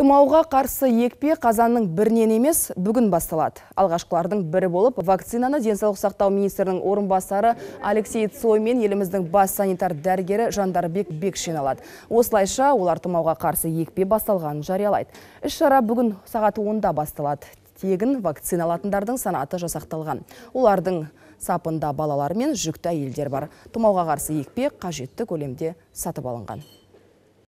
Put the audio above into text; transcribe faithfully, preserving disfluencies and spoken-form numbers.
Тұмауға қарсы екпе қазанның бірінен емес, бүгін басталады. Алғашқылардың бірі болып, вакцинаны денсаулық сақтау министрінің орынбасары Алексей Цой мен еліміздің бас санитар дәрігері Жандарбек Бекшин алады. Осылайша олар тұмауға қарсы екпе басталғанын жариялайды. Іс-шара бүгін сағат онда басталады. Тегін вакцина алатындардың санаты жасақталған. Олардың сапында балалар мен жүкті әйелдер бар. Тұмауға қарсы екпе қажетті көлемде сатып алынған.